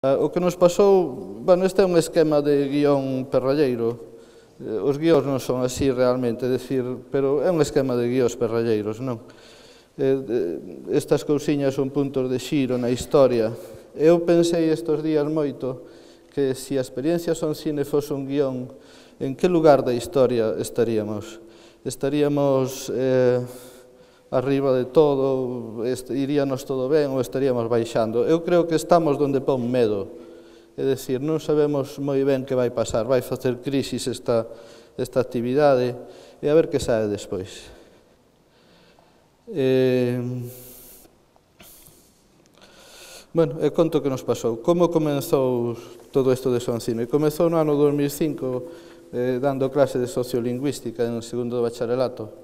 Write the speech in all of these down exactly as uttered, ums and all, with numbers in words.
O que nos pasou, bueno, este é un esquema de guión perralleiro. Os guións non son así realmente, decir, pero é un esquema de guións perralleiros, non? Estas cousiñas son puntos de xiro na historia. Eu pensei estes días moito que se a experiencia son cine fose un guión, en que lugar da historia estaríamos? Estaríamos eh, arriba de todo, iríanos todo ben ou estaríamos baixando? Eu creo que estamos donde pon medo. É dicir, non sabemos moi ben que vai pasar, vai facer crisis esta, esta actividade e a ver que sae despois. Eh, bueno, e conto que nos pasou. Como comenzou todo isto de Son Cine? Comezou no ano dos mil e cinco eh, dando clase de sociolingüística en segundo de bacharelato.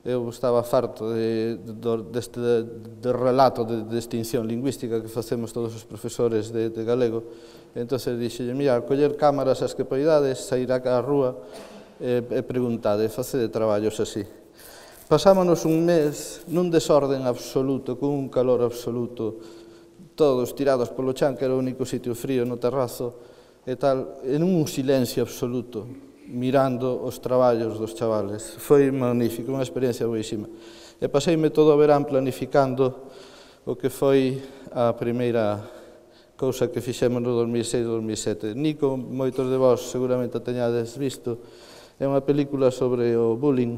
Eu estaba farto de, de, deste de relato de, de extinción lingüística que facemos todos os profesores de, de galego. Entón, dixelle, mira, coller cámaras as que poidades, sair á rúa e, e preguntade, facede traballos así. Pasámonos un mes nun desorden absoluto, con un calor absoluto, todos tirados polo chan, que era o único sitio frío no terrazo, e tal, en un silencio absoluto, mirando os traballos dos chavales. Foi magnífico, unha experiencia boísima. E paseime todo o verán planificando o que foi a primeira cousa que fixemos no dos mil seis dos mil sete. Nico, moitos de vós seguramente a teñades visto, é unha película sobre o bullying.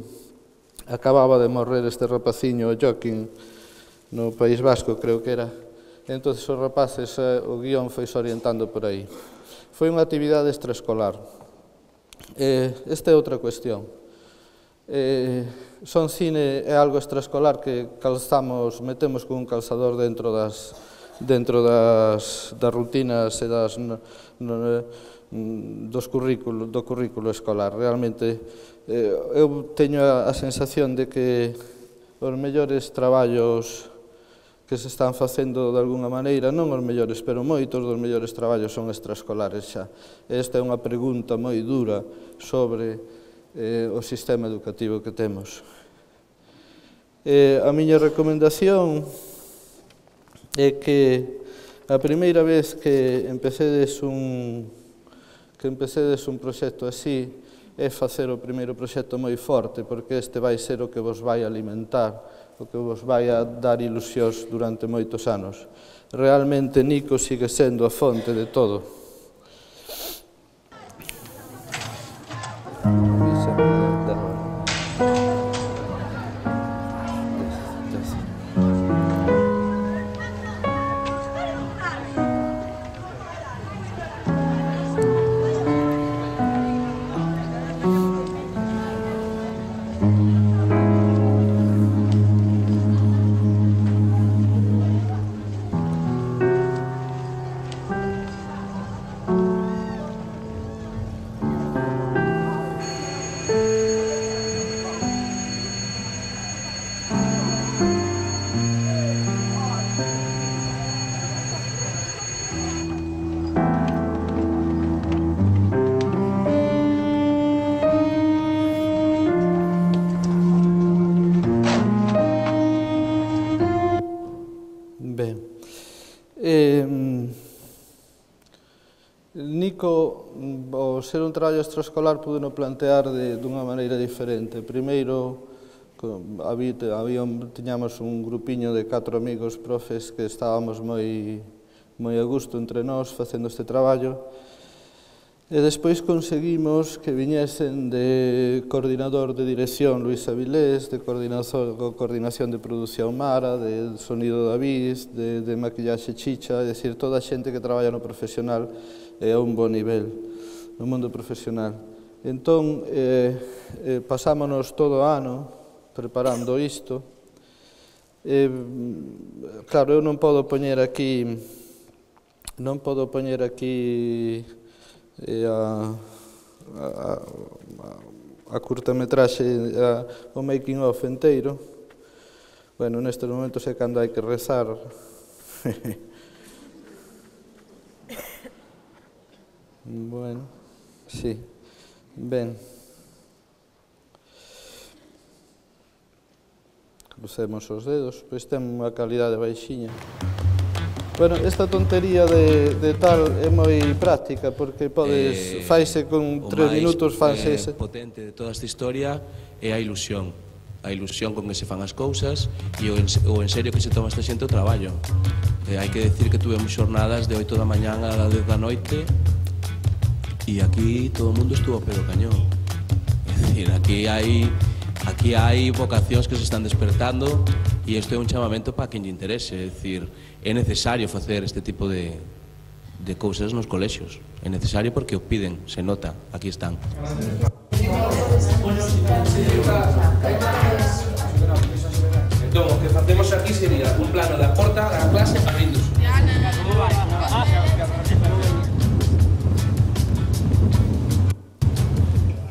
Acababa de morrer este rapaciño, o Joaquín, no País Vasco, creo que era. Entón, os rapaces, o guión foi se orientando por aí. Foi unha actividade extraescolar. Esta é outra cuestión. Son Cine é algo extraescolar que calzamos, metemos con un calzador dentro das dentro das, das rutinas e das, no, no, dos currículo, do currículo escolar. Realmente, eh, eu teño a, a sensación de que os mellores traballos que se están facendo de alguna maneira, non os mellores, pero moitos dos mellores traballos son extraescolares xa. Esta é unha pregunta moi dura sobre eh, o sistema educativo que temos. Eh, a miña recomendación é que a primeira vez que empecedes un, que empecedes un proxecto así é facer o primeiro proxecto moi forte, porque este vai ser o que vos vai alimentar, o que vos vai a dar ilusións durante moitos anos. Realmente Nico sigue sendo a fonte de todo. Ben, eh, Nico, ao ser un traballo extraescolar, pude no plantear de, dunha maneira diferente. Primeiro, había, había, tiñamos un grupiño de catro amigos profes que estábamos moi, moi a gusto entre nós facendo este traballo. E despois conseguimos que viñesen de coordinador de dirección Luis Avilés, de coordinación de produción Mara, de sonido David, de, de maquillaxe Chicha, é dicir, toda a xente que traballa no profesional e a un bo nivel, no mundo profesional. Entón, eh, eh, pasámonos todo o ano preparando isto. Eh, claro, eu non podo poñer aquí, non podo poñer aquí e a, a, a curtametraxe, a, o making of enteiro. Bueno, nestes momentos é cando hai que rezar. Bueno, sí, ben. Crucemos os dedos, pois ten unha calidade baixiña. Bueno, esta tontería de, de tal é moi práctica porque podes, eh, faise con tres minutos fanse ese. O máis potente de toda esta historia é a ilusión. A ilusión con que se fan as cousas e o en, o en serio que se toma esta xente o traballo. Eh, hai que decir que tuvemos xornadas de oito da mañán a dez da noite e aquí todo o mundo estuvo a pé do cañón. É dicir, aquí hai, aquí hai vocacións que se están despertando e isto é un chamamento para quen lle interese. É dicir, é necesario facer este tipo de, de cousas nos colexios. É necesario porque o piden, se nota, aquí están. Entón, o que facemos aquí sería un plano da porta da clase abrindo-se.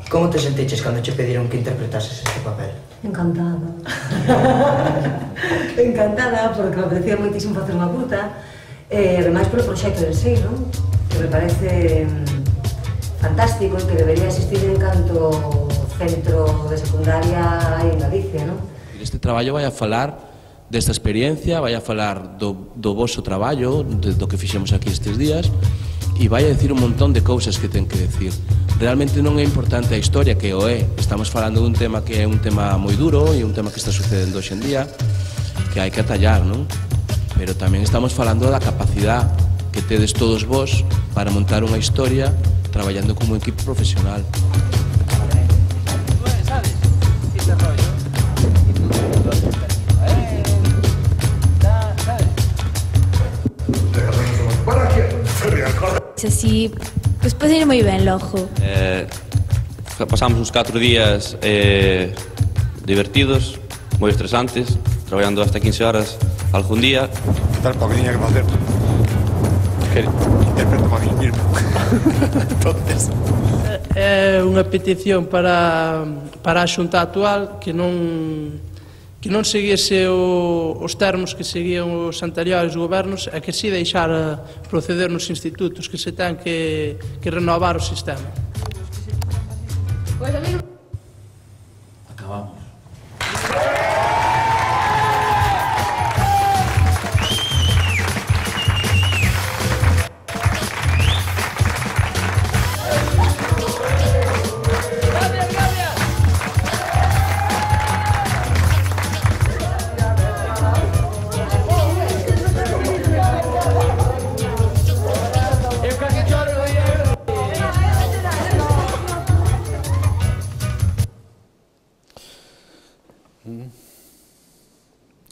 Como te sentiches cando che pediron que interpretases este papel? Encantada. Encantada, porque me parecía moitísimo facer unha curta, e ademais polo proxecto en sí, non? Que me parece fantástico e que debería existir en canto centro de secundaria en Galicia, non? Este traballo vai a falar desta experiencia, vai a falar do, do voso traballo, de, do que fixemos aquí estes días, e vai a decir un montón de cousas que ten que decir. Realmente non é importante a historia, que o é. Estamos falando dun tema que é un tema moi duro e un tema que está sucedendo hoxe en día, que hai que atallar, non? Pero tamén estamos falando da capacidade que tedes todos vos para montar unha historia traballando como un equipo profesional. Así, pues puede ir moi ben logo. Eh, pasamos uns catro días eh, divertidos, moi estresantes, traballando hasta quince horas algún día. Tal para que tiña que facer que interpreto para mí mismo. Entonces é unha petición para, para a xunta actual que non que non seguise o, os termos que seguían os anteriores gobernos e que si deixara proceder nos institutos, que se ten que, que renovar o sistema. Acabamos.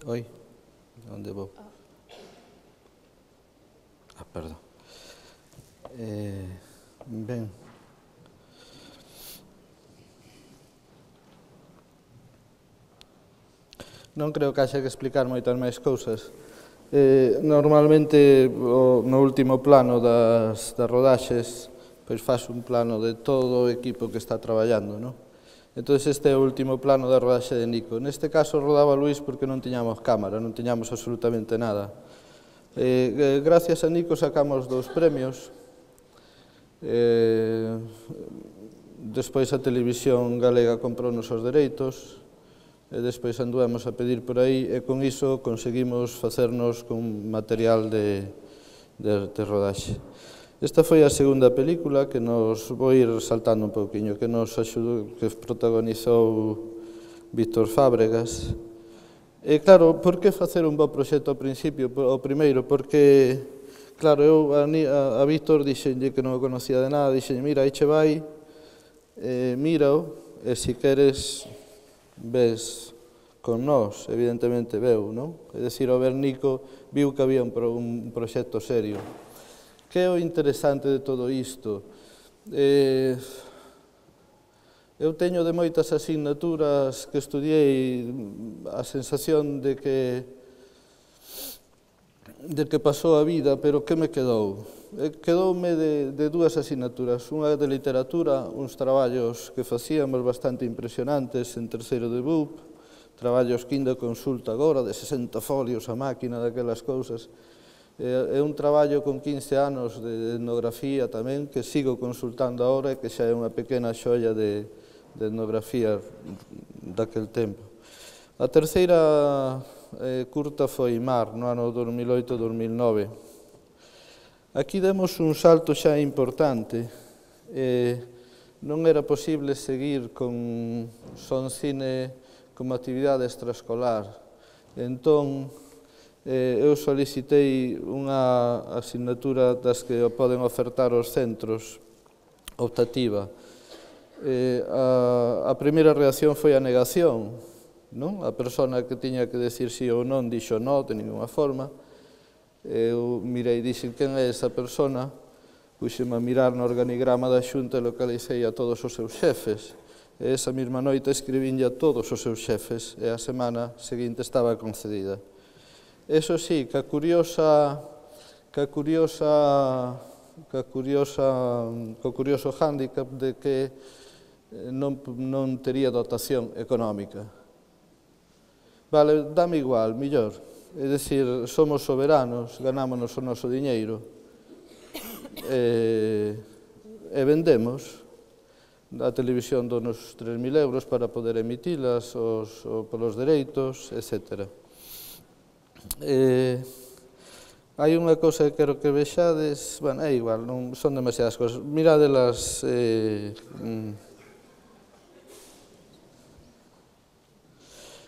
Oi, onde vou? Ah, perdón. Eh, ben. Non creo que haxa que explicar moitas máis cousas. Eh, normalmente, o, no último plano das, das rodaxes, pois faz un plano de todo o equipo que está traballando, non? Entón, este é o último plano da rodaxe de Nico. Neste caso, rodaba Luís porque non tiñamos cámara, non tiñamos absolutamente nada. Eh, gracias a Nico sacamos dous premios. Eh, despois a televisión galega comprounos os dereitos, e despois anduemos a pedir por aí, e con iso conseguimos facernos con material de, de, de rodaxe. Esta foi a segunda película que nos vou ir saltando un pouquiño, que nos axudou, que protagonizou Víctor Fábregas. E claro, por que facer un bo proxecto ao principio? O primeiro, porque, claro, eu a, a, a Víctor dixenlle que non o conocía de nada, dixenlle, mira, aí che vai, eh, mírao, e se queres, ves con nós, evidentemente veu, non? É dicir, ao ver Nico, viu que había un, pro, un proxecto serio. Que é o interesante de todo isto? Eh, eu teño de moitas asignaturas que estudiei a sensación de que de que pasou a vida, pero que me quedou? Eh, quedoume de, de dúas asignaturas, unha de literatura, uns traballos que facíamos bastante impresionantes en terceiro de B U P, traballos que ainda consulta agora, de sesenta folios a máquina, daquelas cousas. É un traballo con quince anos de etnografía tamén, que sigo consultando agora e que xa é unha pequena xoia de, de etnografía daquel tempo. A terceira eh, curta foi Mar, no ano dos mil oito dos mil nove. Aquí demos un salto xa importante. Eh, non era posible seguir con son cine como actividade extraescolar. Entón, eh, eu solicitei unha asignatura das que poden ofertar os centros, optativa. Eh, a, a primeira reacción foi a negación, non? A persona que tiña que decir sí ou non dixo non, de ninguna forma. Eu mirei e dixen quen é esa persona, puxeme a mirar no organigrama da Xunta e localicei a todos os seus xefes. E esa mesma noite escribinlle a todos os seus xefes e a semana seguinte estaba concedida. Eso sí, que a curiosa, que a curiosa, que a curiosa, que o curioso hándicap de que non, non tería dotación económica. Vale, dame igual, millor. É dicir, somos soberanos, ganámonos o noso diñeiro e, e vendemos. A televisión donos tres mil euros para poder emitilas, os, os, polos dereitos, etcétera. Eh, hai unha cousa que quero que vexades, bueno, é igual, non son demasiadas cousas. Miradelas... Eh, mm,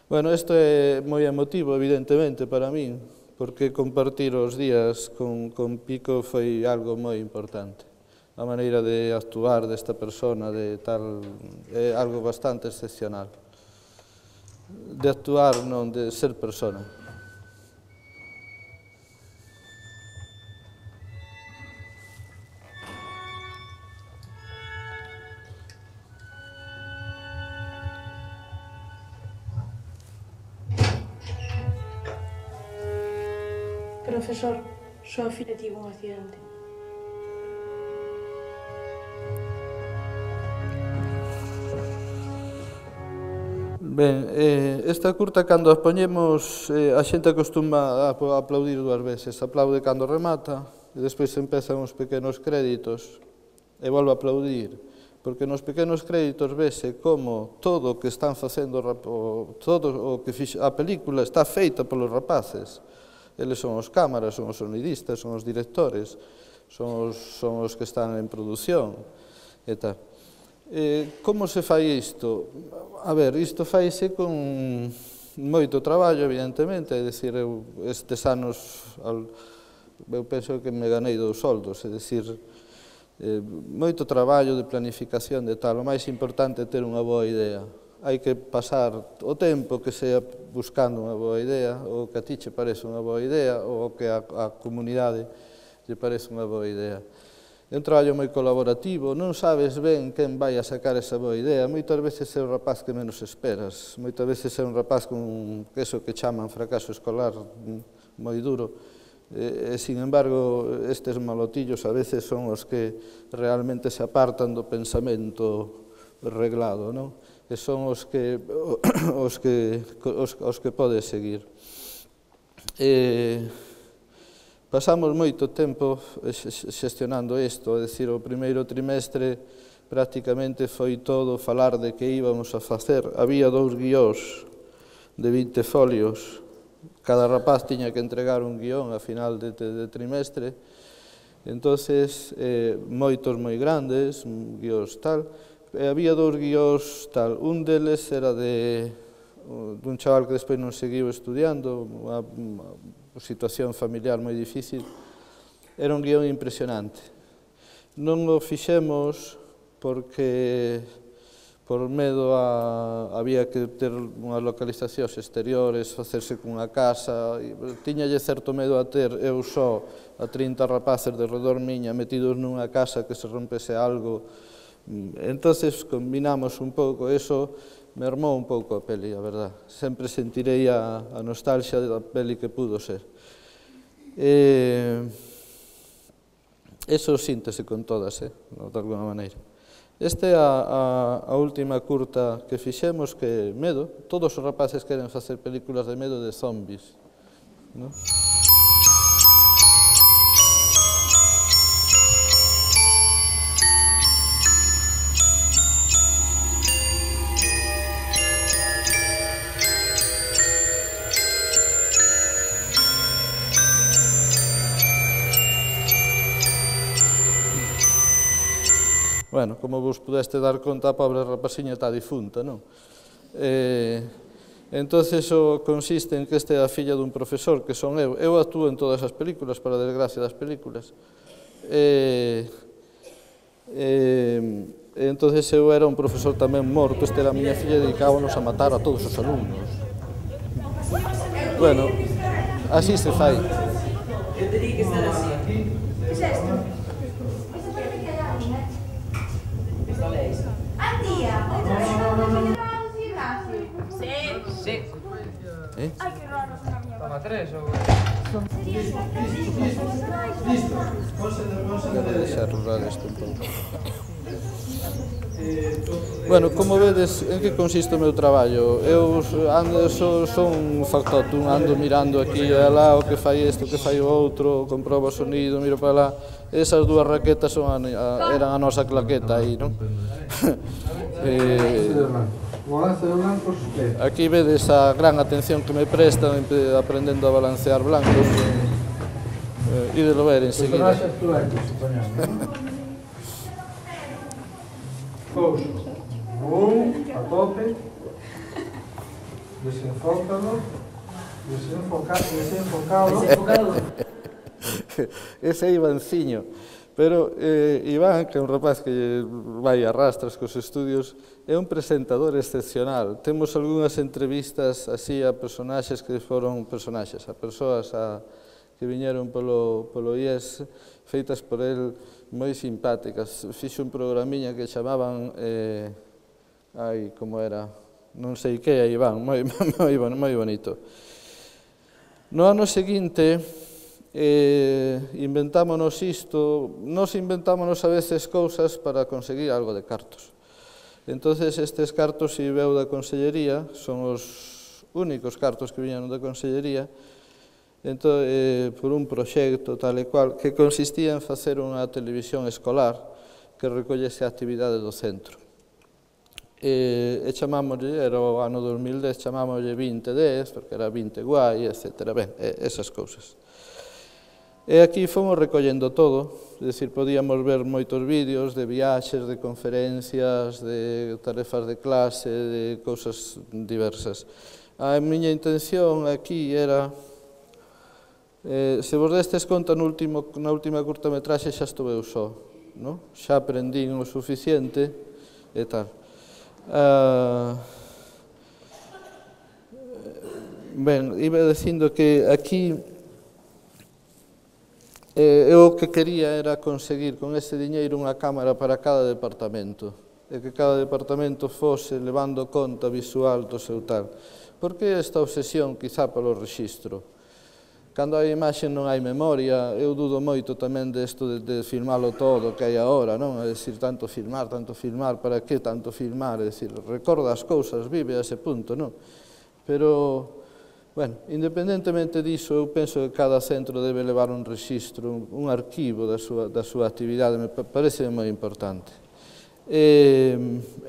Bueno, isto é moi emotivo, evidentemente, para min, porque compartir os días con, con Pico foi algo moi importante. A maneira de actuar desta persona, de tal, é algo bastante excepcional. De actuar, non de ser persona. Profesor, súa filla tivo un accidente. Ben, eh, esta curta, cando a poñemos, eh, a xente acostuma a aplaudir dúas veces. Aplaude cando remata, e despois empezan os pequenos créditos, e volve a aplaudir. Porque nos pequenos créditos vese como todo o que están facendo, todo o que a película está feita polos rapaces. Eles son os cámaras, son os sonidistas, son os directores, son os, son os que están en produción, e tal. Eh, como se fai isto? A ver, isto faise con moito traballo, evidentemente, é dicir, eu estes anos, eu penso que me ganei dous soldos, é dicir, eh, moito traballo de planificación de tal, o máis importante é ter unha boa idea. Hai que pasar o tempo que sea buscando unha boa idea, ou que a ti che parece unha boa idea, ou que a, a comunidade lle parece unha boa idea. É un traballo moi colaborativo, non sabes ben quen vai a sacar esa boa idea. Moitas veces é o rapaz que menos esperas, moitas veces é un rapaz con eso que chaman fracaso escolar moi duro. E, e, sin embargo, estes malotillos a veces son os que realmente se apartan do pensamento reglado, non? E son os que, os que, os, os que podes seguir. E pasamos moito tempo xestionando isto, é dicir, o primeiro trimestre prácticamente foi todo falar de que íbamos a facer. Había dous guións de vinte folios, cada rapaz tiña que entregar un guión a final de, de, de trimestre, entonces eh, moitos moi grandes, guións tal. E había dous guións tal, un deles era de dun chaval que despois non seguiu estudiando, unha, unha situación familiar moi difícil. Era un guión impresionante. Non o fixemos porque por medo a había que ter unhas localizacións exteriores, facerse cunha casa, tiñalle certo medo a ter eu só a trinta rapaces de redor miña metidos nunha casa que se rompese algo. Entonces combinamos un pouco, eso mermou un pouco a peli, a verdad. Sempre sentirei a, a nostalgia da peli que pudo ser. Eh, eso síntese con todas, eh, de alguna maneira. Esta é a, a, a última curta que fixemos, que é medo. Todos os rapaces queren facer películas de medo de zombies, non? Bueno, como vos pudeste dar conta, a pobre rapasiña está difunta, non? Entonces, o consiste en que esta é a filla dun profesor, que son eu. Eu actúo en todas as películas, para a desgracia das películas. E... Entonces eu era un profesor tamén morto, esta era a miña filla, e dedicábamos a matar a todos os alumnos. Bueno, así se fai. Eu teria que estar así. Que é isto? Esta é isto. Antía, outra vez no gimnasio. Sí. Sí. Eh? Ai, que raro, na miña. Toma tres ou... Listo. Debe deixar rural isto un pouco. Bueno, como vedes, en que consiste o meu traballo? Eu ando, so, son un factotum, ando mirando aquí e alá o que fai isto, o que fai o outro, comprobo o sonido, miro para lá. Esas dúas raquetas son a, a, eran a nosa claqueta aí, non? eh, aquí vedes a gran atención que me prestan aprendendo a balancear blancos. Eh, ídelo ver enseguida. Couso, un, a tope, desenfócalo, desenfocado, desenfocado. Ese é Ivanciño, pero eh, Iván, que é un rapaz que vai a rastras cos estudios, é un presentador excepcional. Temos algunhas entrevistas así a personaxes que foron personaxes, a persoas a, que viñeron polo, polo I E S, feitas por el, moi simpáticas. Fixo un programiña que chamaban, eh, ai, como era, non sei que, aí van, moi, moi, moi bonito. No ano seguinte, eh, inventámonos isto, nos inventámonos a veces cousas para conseguir algo de cartos. Entonces, estes cartos si veu da Consellería, son os únicos cartos que viñeron da Consellería, entón, eh, por un proxecto tal e cual, que consistía en facer unha televisión escolar que recollese a actividade do centro. E, e chamámoslle, era o ano dos mil dez, chamámoslle vinte dez, porque era vinte guai, etcétera. Ben, esas cousas. E aquí fomos recollendo todo, é dicir, podíamos ver moitos vídeos de viaxes, de conferencias, de tarefas de clase, de cousas diversas. A miña intención aquí era... Eh, se vos destes conta no último, na última curtametraxe xa estou eu só, no? Xa aprendín o suficiente e tal. Uh, ben, iba dicindo que aquí eh, eu o que quería era conseguir con ese diñeiro unha cámara para cada departamento e que cada departamento fose levando conta visual do seu tal. Por que esta obsesión quizá polo rexistro? Cando hai imaxe non hai memoria, eu dudo moito tamén desto de, de filmalo todo que hai agora, non? É dicir, tanto filmar, tanto filmar, para que tanto filmar? É dicir, recorda as cousas, vive a ese punto, non? Pero, bueno, independentemente diso, eu penso que cada centro debe levar un rexistro, un, un arquivo da súa, da súa actividade, me parece moi importante. E,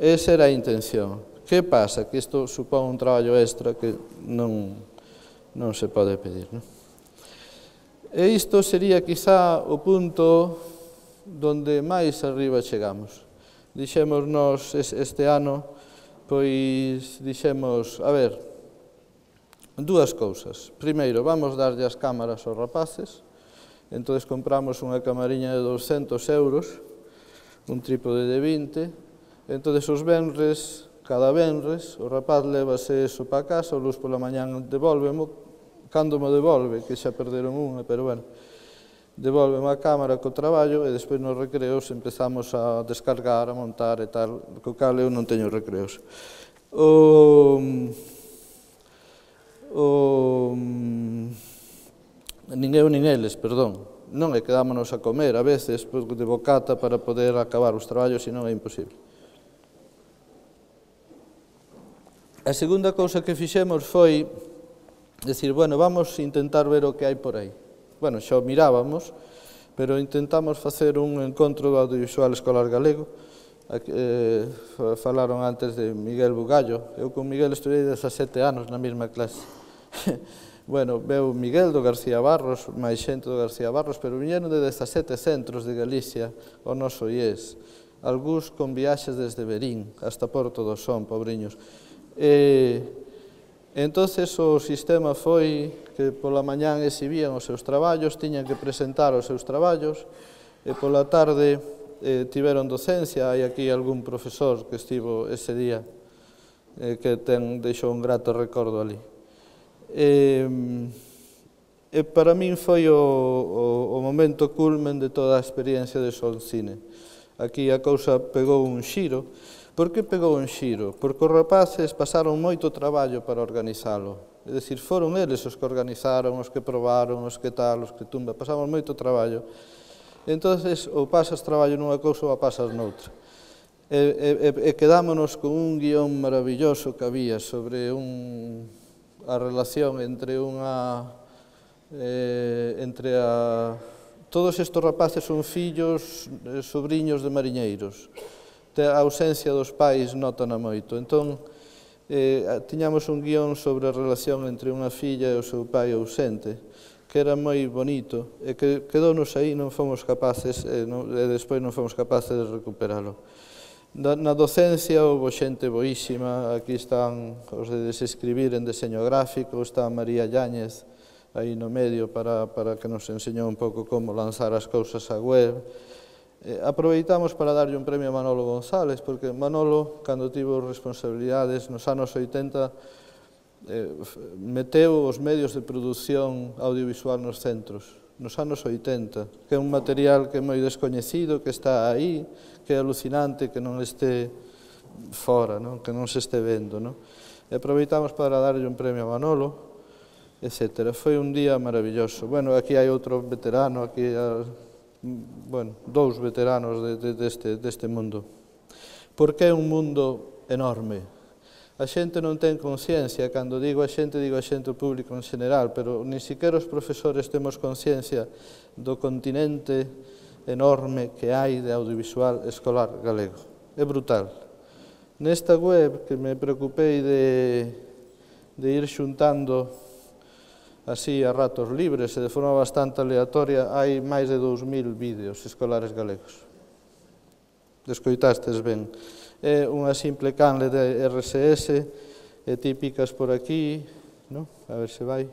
esa era a intención. Que pasa? Que isto supón un traballo extra que non, non se pode pedir, non? E isto sería quizá o punto donde máis arriba chegamos. Dixémonos este ano, pois dixemos, a ver, dúas cousas. Primeiro, vamos darlle as cámaras aos rapaces, entón compramos unha camariña de douscentos euros, un trípode de vinte, entón os venres, cada venres, o rapaz levase eso para casa, o luz pola mañán devolvemo, cando me devolve, que xa perderon unha, pero bueno, devolve a cámara co traballo e despois nos recreos empezamos a descargar, a montar e tal, co cal eu non teño recreos. O, o, nin eu nin eles, perdón, non é quedámonos a comer a veces de bocata para poder acabar os traballos, senón é imposible. A segunda cousa que fixemos foi decir, bueno, vamos a intentar ver o que hai por aí. Bueno, xa o mirábamos, pero intentamos facer un encontro do audiovisual escolar galego. Eh, falaron antes de Miguel Bugallo. Eu con Miguel estudei dezasete anos na mesma clase. Bueno, veu Miguel do García Barros, máis xente do García Barros, pero viñeron de dezasete centros de Galicia ao noso I E S. algúns con viaxes desde Verín hasta Porto do Son, pobriños. E, entonces o sistema foi que pola mañán exhibían os seus traballos, tiñan que presentar os seus traballos, e pola tarde eh, tiveron docencia. Hai aquí algún profesor que estivo ese día eh, que ten, deixou un grato recordo ali. E, e para min foi o, o, o momento culmen de toda a experiencia de Soncine. Aquí a cousa pegou un xiro. Por que pegou un xiro? Porque os rapaces pasaron moito traballo para organizalo. É dicir, foron eles os que organizaron, os que probaron, os que tal, os que tumba. Pasamos moito traballo. Entonces, ou pasas traballo nunha cousa ou a pasas noutra. E, e, e quedámonos con un guión maravilloso que había sobre un, a relación entre unha... Eh, entre a... Todos estes rapaces son fillos, eh, sobrinhos de mariñeiros. A ausencia dos pais notana moito. Entón, eh, tiñamos un guión sobre a relación entre unha filla e o seu pai ausente, que era moi bonito, e que quedounos aí, non fomos capaces, e, non, e despois non fomos capaces de recuperalo. Na, na docencia houve xente boísima. Aquí están os de desescribir en deseño gráfico, está María Yáñez aí no medio para, para que nos enseñou un pouco como lanzar as cousas á web. Eh, aproveitamos para darlle un premio a Manolo González, porque Manolo, cando tivo responsabilidades nos anos oitenta, eh, meteu os medios de produción audiovisual nos centros, nos anos oitenta, que é un material que é moi descoñecido, que está aí, que é alucinante que non este fora, non? Que non se este vendo. Non? E aproveitamos para darlle un premio a Manolo, etcétera. Foi un día maravilloso. Bueno, aquí hai outro veterano, aquí hai, bueno, dous veteranos de, de, deste, deste mundo. Porque é un mundo enorme. A xente non ten conciencia, cando digo a xente, digo a xente público en general, pero ni siquiera os profesores temos conciencia do continente enorme que hai de audiovisual escolar galego. É brutal. Nesta web, que me preocupei de, de ir xuntando así a ratos libres e de forma bastante aleatoria, hai máis de dous mil vídeos escolares galegos. Descoitastes ben. É unha simple canle de R S S, e típicas por aquí, no? A ver se vai.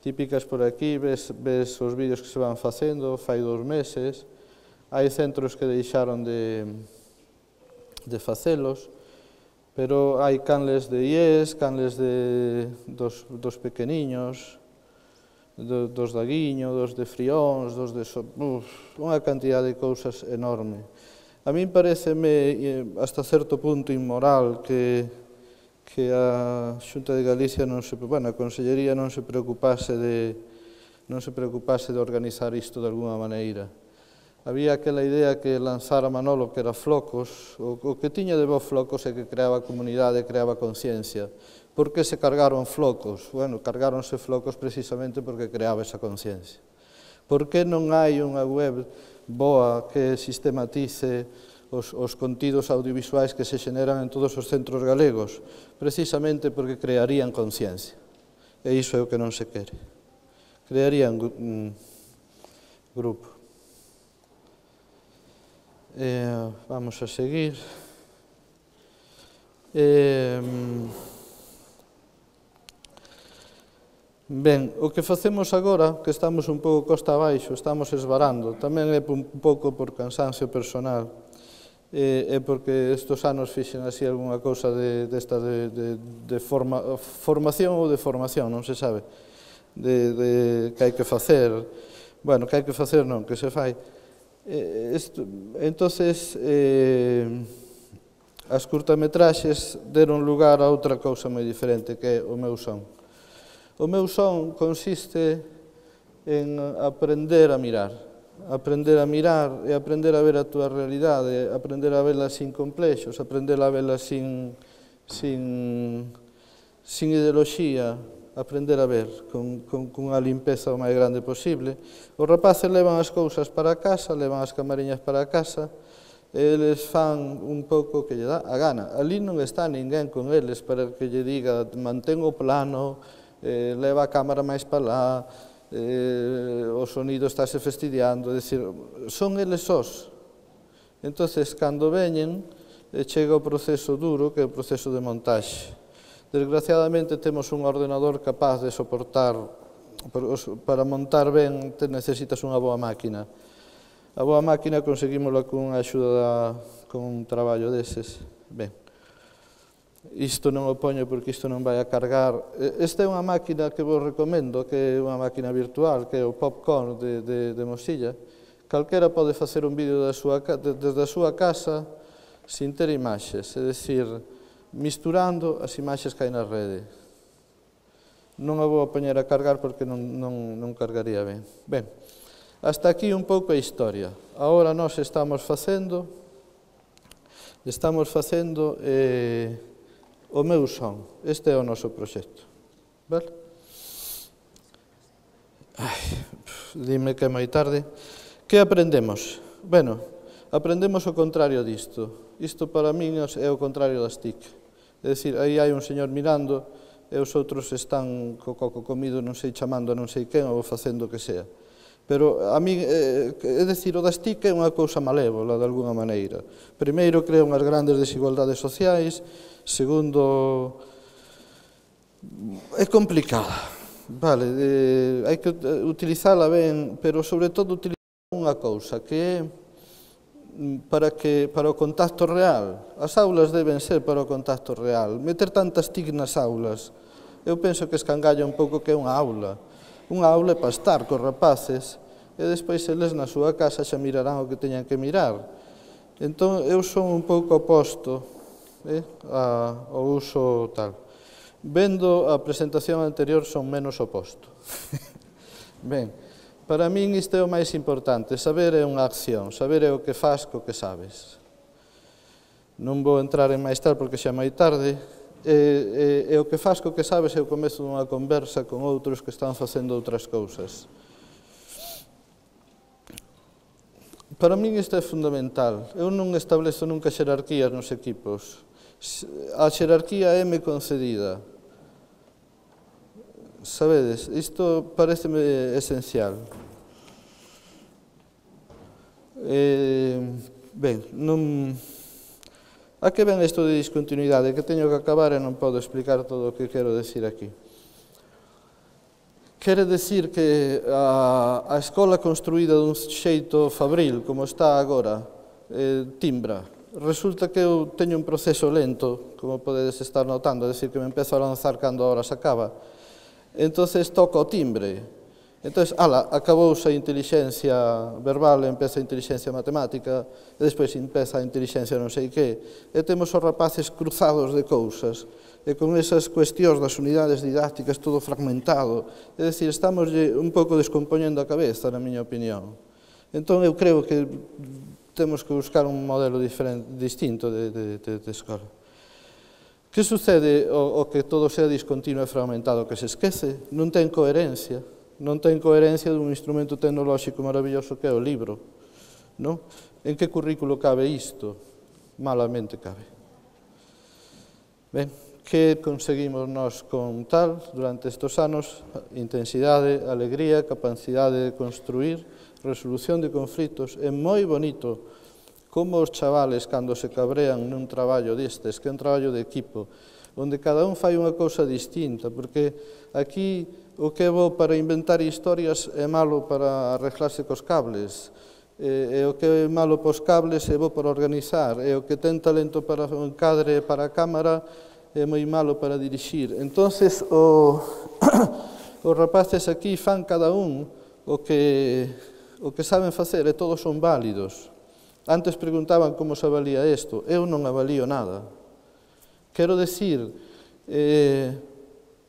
Típicas por aquí, ves, ves os vídeos que se van facendo, fai dous meses. Hai centros que deixaron de, de facelos, pero hai canles de I E S, canles de, dos, dos pequeniños, do, dos da Guiño, dos de Frións, dos de... So, uf, unha cantidad de cousas enorme. A min pareceme hasta certo punto inmoral que, que a Xunta de Galicia non se, bueno, a Consellería non se preocupase de, non se preocupase de organizar isto de alguma maneira. Había aquela idea que lanzara Manolo, que era Flocos, o, o que tiña de bo Flocos é que creaba comunidade, creaba conciencia. Por que se cargaron Flocos? Bueno, cargáronse Flocos precisamente porque creaba esa conciencia. Por que non hai unha web boa que sistematice os, os contidos audiovisuais que se xeneran en todos os centros galegos? Precisamente porque crearían conciencia. E iso é o que non se quere. Crearían un grupo. Eh, vamos a seguir. Eh, ben, o que facemos agora, que estamos un pouco costa abaixo, estamos esvarando, tamén é un pouco por cansancio personal, e, e porque estes anos fixen así algunha cousa de, desta de, de, de forma, formación ou de formación, non se sabe, de, de que hai que facer, bueno, que hai que facer non, que se fai. Eh, esto, entonces, eh, as curtametraxes deron lugar a outra cousa moi diferente, que é o meu son. O meu son consiste en aprender a mirar, aprender a mirar e aprender a ver a túa realidade, aprender a vela sin complexos, aprender a vela sin, sin, sin ideoloxía, aprender a ver con, con, con a limpeza o máis grande posible. Os rapaces levan as cousas para casa, levan as camariñas para casa, eles fan un pouco que lle dá a gana. Ali non está ninguén con eles para que lle diga mantén o plano, eh, leva a cámara máis para lá, eh, o sonido estáse fastidiando, é dicir, son eles sós. Entonces, cando veñen, chega o proceso duro, que é o proceso de montaxe. Desgraciadamente, temos un ordenador capaz de soportar, para montar ben, necesitas unha boa máquina. A boa máquina conseguímola con unha axuda, con un traballo deses. Ben, isto non o poño porque isto non vai a cargar. Esta é unha máquina que vos recomendo, que é unha máquina virtual, que é o Popcorn de, de, de Mozilla. Calquera pode facer un vídeo da súa, desde a súa casa sin ter imaxes, é dicir, misturando as imaxes que hai na rede. Non a vou a poñer a cargar porque non, non, non cargaría ben. Ben, hasta aquí un pouco a historia. Agora nós estamos facendo, estamos facendo eh, o meu son. Este é o noso proxecto. Vale? Ai, dime que é moi tarde. Que aprendemos? Bueno, aprendemos o contrario disto. Isto para min é o contrario das T I C. É dicir, aí hai un señor mirando e os outros están co coco comido, non sei, chamando a non sei quen ou facendo o que sea. Pero a mí, é dicir, o das T I C é unha cousa malévola, de alguna maneira. Primeiro, crea unhas grandes desigualdades sociais. Segundo, é complicada. Vale, eh, hai que utilizala ben, pero sobre todo utilizar unha cousa, que é para, que, para o contacto real. As aulas deben ser para o contacto real. Meter tantas T I C nas aulas, eu penso que escangalla un pouco que é unha aula. Unha aula é para estar cos rapaces e despois eles na súa casa xa mirarán o que teñan que mirar. Entón, eu son un pouco oposto eh, a, ao uso tal. Vendo a presentación anterior, son menos oposto. Ben, para min isto é o máis importante. Saber é unha acción, saber é o que faz co que sabes. Non vou entrar en máis tal porque xa é moi tarde. E, e, e o que faz co que sabes é o comezo dunha conversa con outros que están facendo outras cousas. Para min isto é fundamental. Eu non establezo nunca xerarquías nos equipos. A xerarquía é me concedida. Sabedes, isto pareceme esencial. Eh, ben, non... A que ven isto de discontinuidade? Que teño que acabar e non podo explicar todo o que quero decir aquí. Quere decir que a, a escola construída dun xeito fabril, como está agora, eh, timbra. Resulta que eu teño un proceso lento, como podedes estar notando, é dicir, que me empezo a lanzar cando a hora se acaba. Entonces toco o timbre. Entonces, ala, acabouse a inteligencia verbal, empeza a inteligencia matemática, e despois empeza a inteligencia non sei que, e temos os rapaces cruzados de cousas, e con esas cuestións das unidades didácticas todo fragmentado, é dicir, estamos un pouco descompoñendo a cabeza, na miña opinión. Entón, eu creo que temos que buscar un modelo diferente, distinto de, de, de, de escola. Que sucede o, o que todo sea discontinuo e fragmentado, que se esquece? Non ten coherencia. Non ten coherencia dun instrumento tecnolóxico maravilloso que é o libro. Non? En que currículo cabe isto? Malamente cabe. Ben, que conseguimos nós con tal durante estes anos? Intensidade, alegría, capacidade de construir, resolución de conflitos. É moi bonito como os chavales, cando se cabrean nun traballo destes, que é un traballo de equipo, onde cada un fai unha cousa distinta, porque aquí o que é bo para inventar historias é malo para arreglarse cos cables, e o que é malo pos cables é bo para organizar, e o que ten talento para o encadre e para a cámara é moi malo para dirixir. Entonces, o, os rapaces aquí fan cada un o que, o que saben facer, e todos son válidos. Antes preguntaban como se avalía isto. Eu non avalío nada. Quero decir, eh,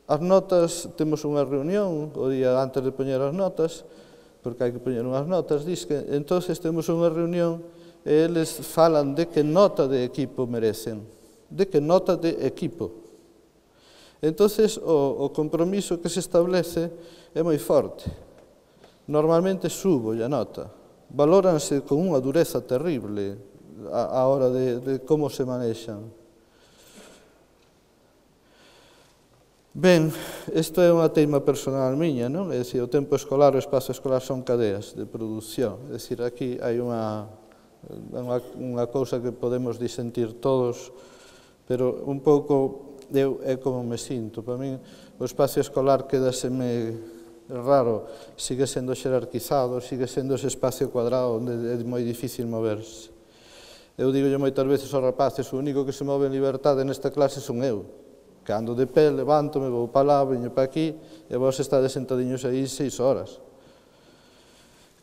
as notas, temos unha reunión o día antes de poñer as notas, porque hai que poñer unhas notas, diz que, entonces temos unha reunión e eles falan de que nota de equipo merecen, de que nota de equipo. Entonces, o, o compromiso que se establece é moi forte. Normalmente subo a nota. Valóranse con unha dureza terrible a, a hora de, de como se manexan. Ben, isto é unha teima personal miña, non? É dicir, o tempo escolar e o espazo escolar son cadeas de produción. É dicir, aquí hai unha, É unha, unha cousa que podemos disentir todos, pero un pouco eu é como me sinto. Para min o espacio escolar quedaseme raro, sigue sendo xerarquizado, sigue sendo ese espacio cuadrado onde é moi difícil moverse. Eu digo moitas veces aos rapaces, o único que se move en liberdade nesta clase son eu, que ando de pé, levanto, me vou para lá, veño para aquí, e vos estades sentadiños aí seis horas.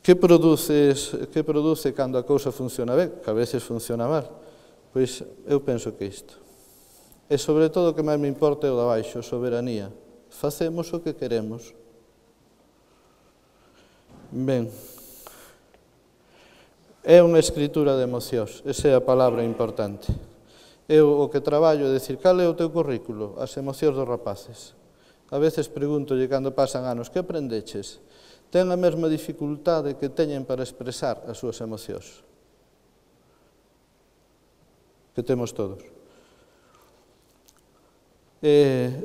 Que produces, que produce cando a cousa funciona ben, que a veces funciona mal? Pois eu penso que isto. E sobre todo o que máis me importa é o de abaixo, soberanía. Facemos o que queremos. Ben, é unha escritura de emocións, esa é a palabra importante. Eu o que traballo é dicir, cal é o teu currículo? As emocións dos rapaces. A veces pregúntolle cando pasan anos, que aprendeches? Ten a mesma dificultade que teñen para expresar as súas emocións. Que temos todos.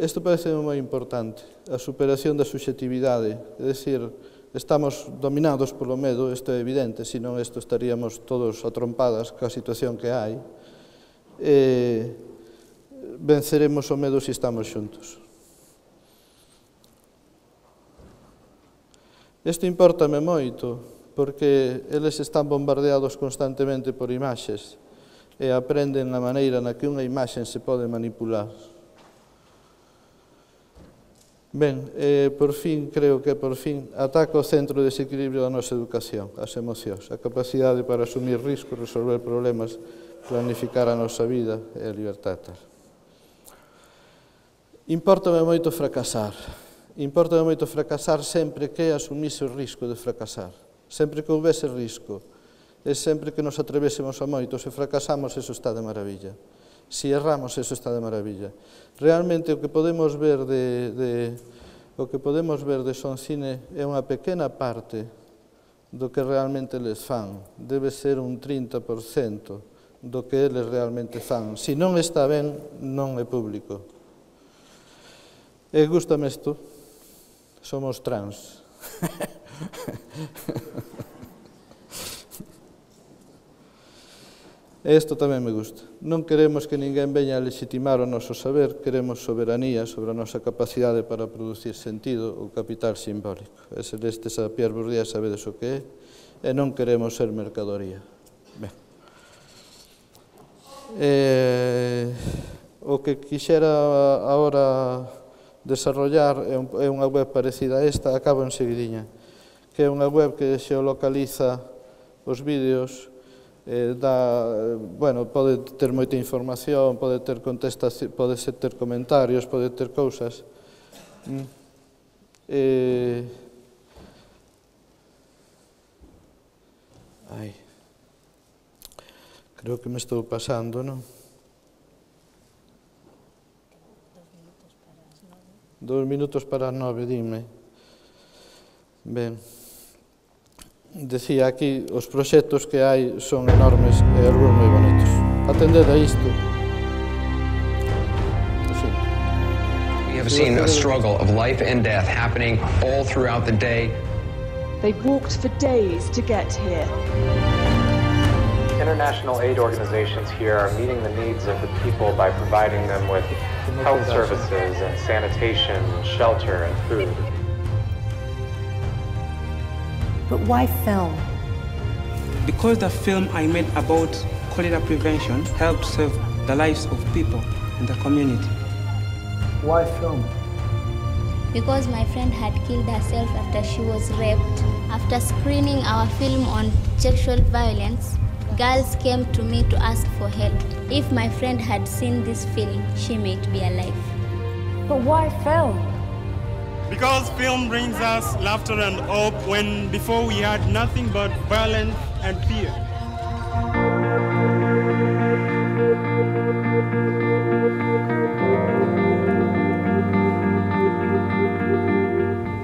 Isto parece moi importante, a superación da subxetividade, é dicir, estamos dominados polo medo, isto é evidente, senón isto estaríamos todos atrompadas ca situación que hai, e venceremos o medo se estamos xuntos. Isto importame moito, porque eles están bombardeados constantemente por imaxes e aprenden a maneira na que unha imaxe se pode manipular. Ben, eh, por fin, creo que por fin, ataca o centro de desequilibrio da nosa educación, as emocións, a capacidade para asumir riscos, resolver problemas, planificar a nosa vida e a liberdade. Importame moito fracasar. Importa moito fracasar sempre que asumise o risco de fracasar. Sempre que houvese risco, e sempre que nos atrevésemos a moito, se fracasamos, eso está de maravilla. Se erramos, eso está de maravilla. Realmente o que podemos ver de, de, o que podemos ver de Soncine é unha pequena parte do que realmente eles fan. Debe ser un trinta por cento do que eles realmente fan. Se non está ben, non é público. E gústame isto. Somos trans. Isto tamén me gusta. Non queremos que ninguén veña a legitimar o noso saber, queremos soberanía sobre a nosa capacidade para producir sentido ou capital simbólico. E se lestes a Pierre Bourdieu sabedes o que é, e non queremos ser mercadoría. Ben. Eh, o que quixera agora desarrollar é unha web parecida a esta, acabo en seguidinha, que é unha web que xeolocaliza os vídeos, eh, dá, bueno, pode ter moita información, pode ter contestación, pode ter comentarios, pode ter cousas. Mm. Eh, ai, creo que me estou pasando, non? Dos minutos para as nove, dime. Ben, decía aquí, os proxectos que hai son enormes e algúns moi bonitos. Atended a isto. We have seen a struggle of life and death happening all throughout the day. They walked for days to get here. International aid organizations here are meeting the needs of the people by providing them with health services and sanitation, shelter and food. But why film? Because the film I made about cholera prevention helped save the lives of people in the community. Why film? Because my friend had killed herself after she was raped. After screening our film on sexual violence, girls came to me to ask for help. If my friend had seen this film, she might be alive. But why film? Because film brings us laughter and hope when before we had nothing but violence and fear.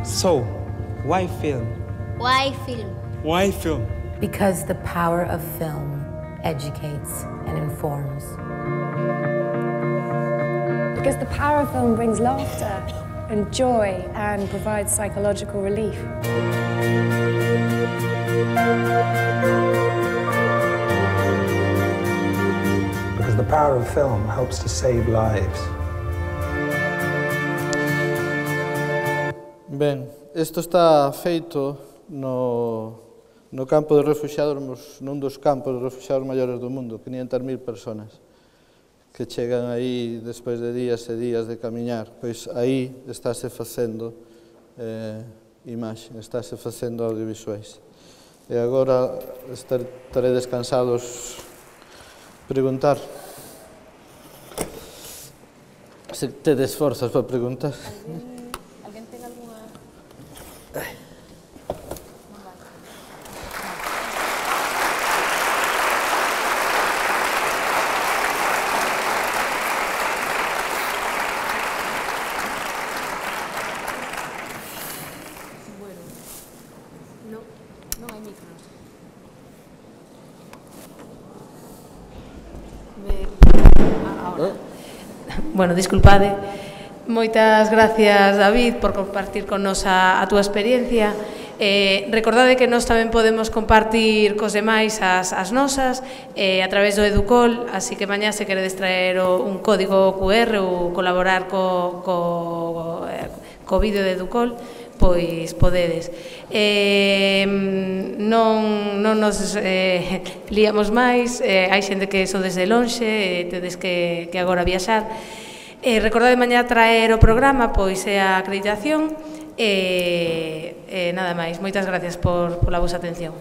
So, why film? Why film? Why film? Because the power of film educates and informs. Because the power of film brings laughter and joy and provides psychological relief. power of film helps to save lives. Ben, isto está feito no, no campo de refugiados, nun dos campos de refugiados maiores do mundo, quinhentas mil personas que chegan aí despois de días e días de camiñar. Pois aí estáse facendo eh, imaxe, estáse facendo audiovisuais. E agora estaredes cansados preguntar. Se tedes forzas para preguntar. Alguén ten alguna... Bueno, disculpade. Moitas gracias, David, por compartir con nos a, a túa experiencia. Eh, recordade que nós tamén podemos compartir cos demais as, as nosas eh, a través do Educol, así que mañá se queredes traer o, un código cu erre ou colaborar co, co, co vídeo de Educol, pois podedes. Eh, non, non nos eh, liamos máis, eh, hai xente que so desde lonxe, eh, tedes que, que agora viaxar. Eh, recordade mañá traer o programa, pois é a acreditación, e eh, eh, nada máis. Moitas gracias por, por la vosa atención.